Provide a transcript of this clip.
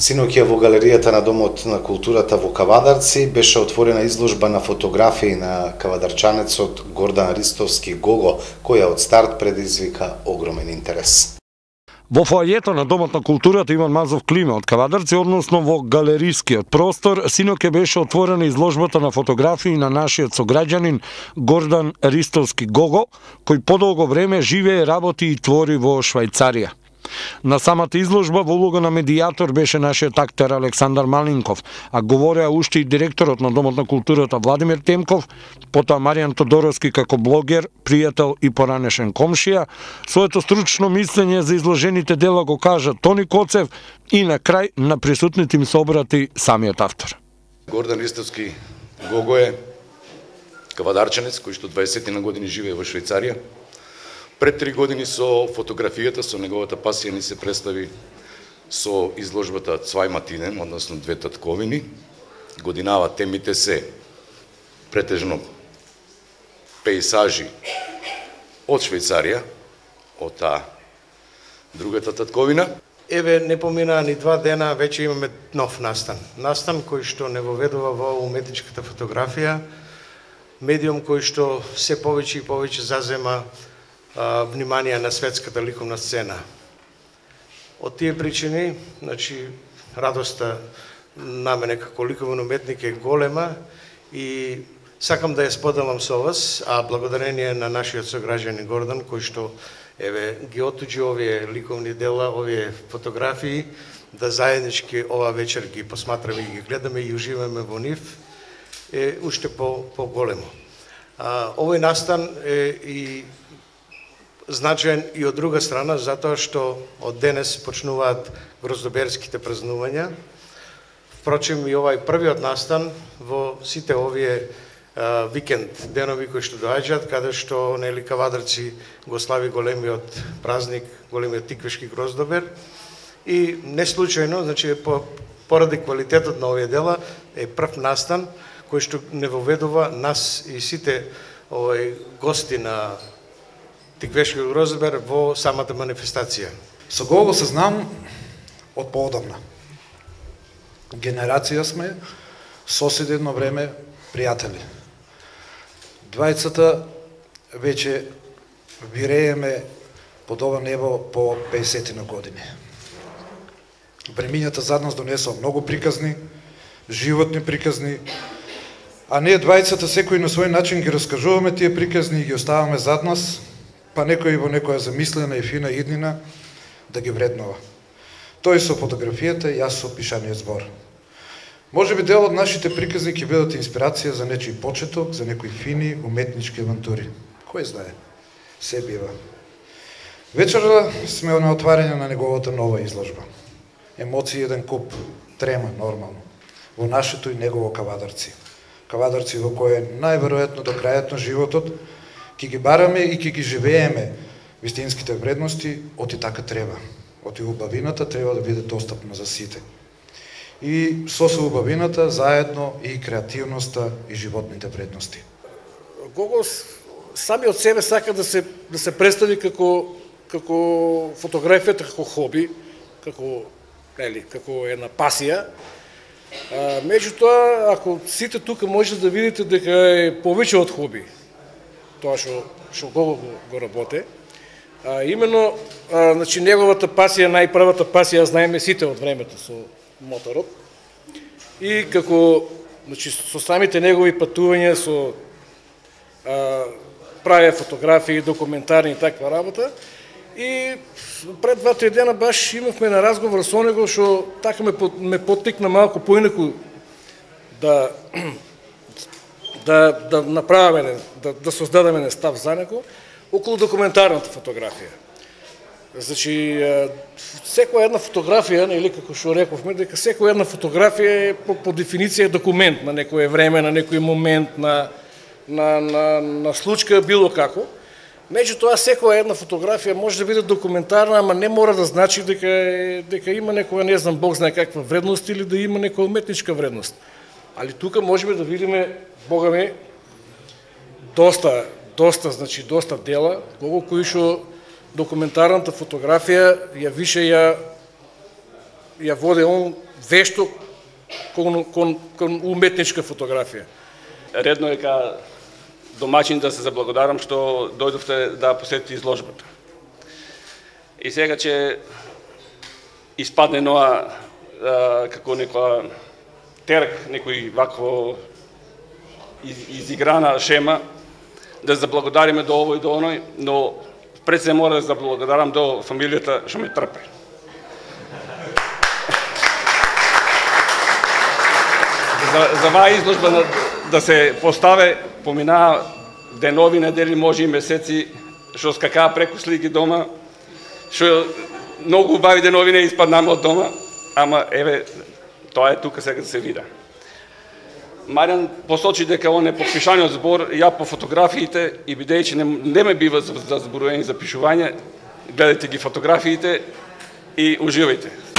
Синоќа во галеријата на Домот на културата во Кавадарци беше отворена изложба на фотографии на кавадарчанецот Гордан Ристовски Гого, која од старт предизвика огромен интерес. Во фоајето на Домот на културата Иван Мазов Климе од Кавадарци, односно во галерискиот простор, синоќа беше отворена изложбата на фотографии на нашиот сограѓанин Гордан Ристовски Гого, кој подолго време живее, работи и твори во Швајцарија. На самата изложба во улога на медијатор беше нашиот актер Александар Малинков, а говореа уште и директорот на Домот на културата Владимир Темков, потоа Маријан Тодоровски како блогер, пријател и поранешен комшија. Своето стручно мислење за изложените дела го кажа Тони Коцев и на крај на присутните им се обрати самиот автор. Гордан Ристовски Гого е кавадарчанец кој што 20 на години живее во Швајцарија. Пред 3 години со фотографијата, со неговата пасија ни се представи со изложбата Цвај Матинен, односно Две татковини. Годинава темите се претежно пејсажи од Швајцарија, од таа другата татковина. Еве, не поминаа ни 2 дена, веќе имаме нов настан. Настан кој што не воведува во уметничката фотографија, медиум кој што се повеќе и повеќе зазема внимание на светската ликовна сцена. Од тие причини, значи, радоста на мене како ликовен уметник е голема и сакам да ја споделам со вас, а благодарение на нашиот сограѓанин Гордан, кој што еве ги отуѓи овие ликовни дела, овие фотографии, да заеднички ова вечер ги посматраме и ги гледаме и уживаме во нив, е уште по-големо. Овој настан е и значаен и од друга страна, затоа што од денес почнуваат гроздоберските празнувања. Впрочем, и овај првиот настан во сите овие викенд денови кои што доаѓаат, каде што нели Кавадарци го слави големиот празник, големиот тиквешки гроздобер. И не случајно, значи поради квалитетот на овие дела, е прв настан кој што не воведува нас и сите гости на Тиквешки гроздобер во самата манифестација. Со Гого се знам од поодамна. Генерација сме, соседи едно време, пријатели. Двајцата веќе вирееме под ова небо по 50 на години. Времињата зад нас донесоа многу приказни, животни приказни, а ние двајцата секој на свој начин ги раскажуваме тие приказни и ги оставаме зад нас, па некој во некоја замислена и фина иднина да ги вреднува. Тој со фотографијата, јас со пишаниот збор. Може би дел од нашите приказни ќе бидат инспирација за нечиј почеток, за некои фини уметнички авантури. Кој знае? Се бива. Вечерва сме на отварање на неговата нова изложба. Емоции еден куп, трема нормално, во нашето и негово Кавадарци. Кавадарци во кој најверојатно до крајот на животот ќе ги бараме и ќе ги живееме вистинските вредности, оти така треба. Оти убавината треба да биде достапна за сите. И со убавината заедно и креативноста и животните вредности. Гого сами од себе сака да се представи како фотографијата како хоби, како една пасија. Меѓутоа, ако сите тука може да видите дека е повеќе од хоби, тоа што Гого го работе. Именно, значи, неговата пасија, најпрвата пасија, знаеме сите од времето со моторот. И како, значи, со самите негови патувања, со правеа фотографии, документарни и таква работа. И пред 2-3 дена баш имавме на разговор со него, што така ме поттикна малку поинаку да направиме, да создадеме став за него околу документарната фотографија. Значи, секоја една фотографија, или како што рековме, дека секоја една фотографија е по дефиниција документ на некој време, на некој момент, на случка, било како. Меѓутоа, секоја една фотографија може да биде документарна, ама не мора да значи дека има некоја, не знам, Бог знае каква вредност или да има некоја уметничка вредност. Али тука можеме да видиме, Бога ми, доста дела, Гого кои што документарната фотографија ја више ја воде он вешто кон уметничка фотографија. Редно е ка домаќин да се заблагодарам што дојдовте да посетите изложбата. И сега че испадне ноа како некоја терк, некој вакво изиграна шема, да заблагодариме до овој и до оној, но пред се мора да заблагодарам до фамилијата што ме трпе. За оваа изложба да се поставе, поминаа денови, недели, може и месеци, што скакаа преку слики дома, што многу убави денови не испаднаме од дома, ама еве, тоа е тука сега да се вида. Маријан посочи дека он е подпишаниот збор, ја по фотографиите и бидејќи не ме бива за зборување и запишување, гледајте ги фотографиите и уживајте.